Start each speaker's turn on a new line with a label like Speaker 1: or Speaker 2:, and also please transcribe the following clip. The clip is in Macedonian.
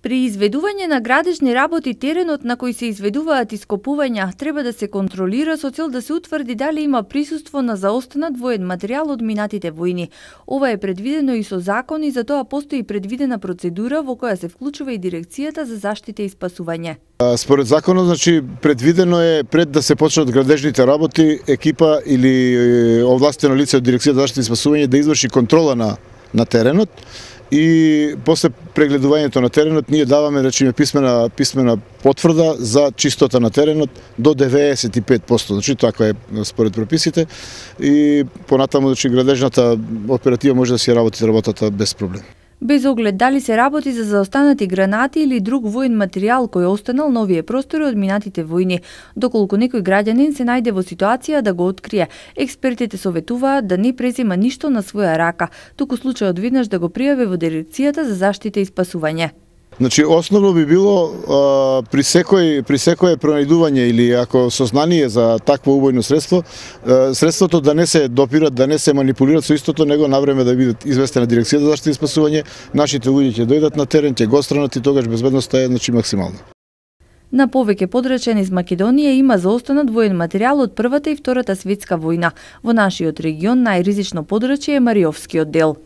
Speaker 1: При изведување на градежни работи теренот на кој се изведуваат ископувања треба да се контролира со цел да се утврди дали има присуство на заостанат воен материјал од минатите војни. Ова е предвидено и со закон и за тоа постои предвидена процедура во која се вклучува и Дирекцијата за заштита и спасување.
Speaker 2: Според законот, предвидено е пред да се почнат градежните работи, екипа или овластено лице од Дирекцијата за заштита и спасување да изврши контрола на теренот. И после прегледувањето на теренот ние даваме писмена потврда за чистота на теренот до 95%. Така е според прописите и понатаму градежната оператива може да си работи работата без проблем.
Speaker 1: Без оглед дали се работи за заостанати гранати или друг воен материјал кој останал на овие простори од минатите војни. Доколку некој граѓанин се најде во ситуација да го открие, експертите советуваат да не презема ништо на своја рака, туку случајот веднаш да го пријави во Дирекцијата за заштита и спасување.
Speaker 2: Основно би било при секое пронајдување или ако сознание за такво убојно средство, средството да не се допират, да не се манипулират со истото, него навреме да бидат известена Дирекцијата за заштита и спасување, нашите луѓе ќе дојдат на терен, ќе го отстранат и тогаш безбедноста е максимална.
Speaker 1: На повеќе подрачја низ Македонија има заостанат воен материјал од Првата и Втората светска војна. Во нашиот регион најризично подрачје е Мариовскиот дел.